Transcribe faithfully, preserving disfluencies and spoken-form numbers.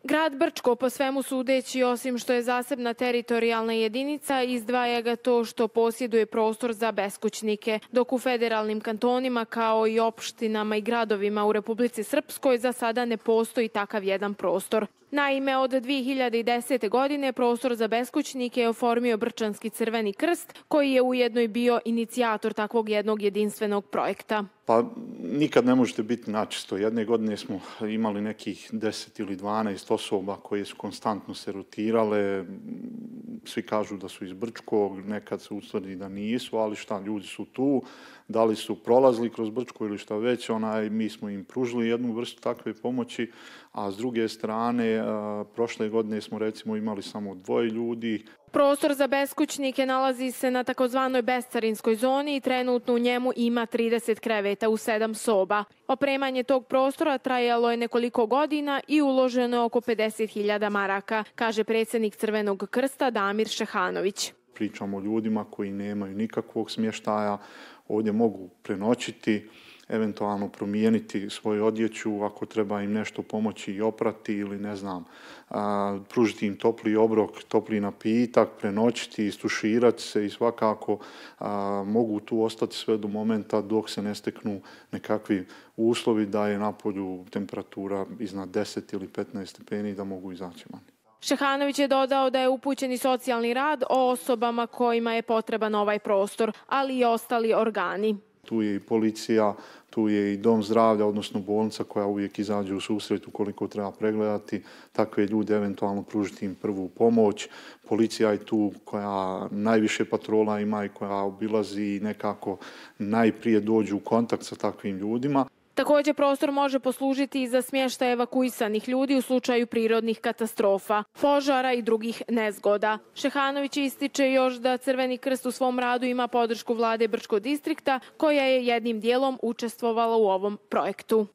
Grad Brčko, po svemu sudeći, osim što je zasebna teritorijalna jedinica, izdvaja ga to što posjeduje prostor za beskućnike, dok u federalnim kantonima, kao i opštinama i gradovima u Republici Srpskoj, za sada ne postoji takav jedan prostor. Naime, od dvije hiljade desete. godine prostor za beskućnike je oformio Brčanski Crveni krst, koji je ujedno i bio inicijator takvog jednog jedinstvenog projekta. Pa nikad ne možete biti načisto. Jedne godine smo imali nekih deset ili dvanaest osoba koje su konstantno se rotirale. Svi kažu da su iz Brčkog, nekad se utvrdi da nisu, ali šta, ljudi su tu, da li su prolazili kroz Brčko ili šta već, onaj, mi smo im pružili jednu vrstu takve pomoći, a s druge strane, a, prošle godine smo recimo imali samo dvoje ljudi. Prostor za beskućnike nalazi se na takozvanoj bescarinskoj zoni i trenutno u njemu ima trideset kreveta u sedam soba. Opremanje tog prostora trajalo je nekoliko godina i uloženo je oko pedeset hiljada maraka, kaže predsjednik Crvenog krsta Damir Šehanović. Pričamo o ljudima koji nemaju nikakvog smještaja, ovdje mogu prenoćiti, eventualno promijeniti svoju odjeću, ako treba im nešto pomoći i oprati ili ne znam, a, pružiti im topli obrok, topli napitak, prenoćiti, istuširati se i svakako a, mogu tu ostati sve do momenta dok se ne steknu nekakvi uslovi da je na polju temperatura iznad deset ili petnaest stepeni da mogu izaći van. Šehanović je dodao da je upućen i socijalni rad o osobama kojima je potreban ovaj prostor, ali i ostali organi. Tu je i policija, tu je i dom zdravlja, odnosno bolnica koja uvijek izađe u susret ukoliko treba pregledati takve ljude, eventualno pružiti im prvu pomoć. Policija je tu koja najviše patrola ima i koja obilazi i nekako najprije dođu u kontakt sa takvim ljudima. Također prostor može poslužiti i za smještaj evakuisanih ljudi u slučaju prirodnih katastrofa, požara i drugih nezgoda. Šehanović ističe još da Crveni krst u svom radu ima podršku vlade Brčkog distrikta, koja je jednim dijelom učestvovala u ovom projektu.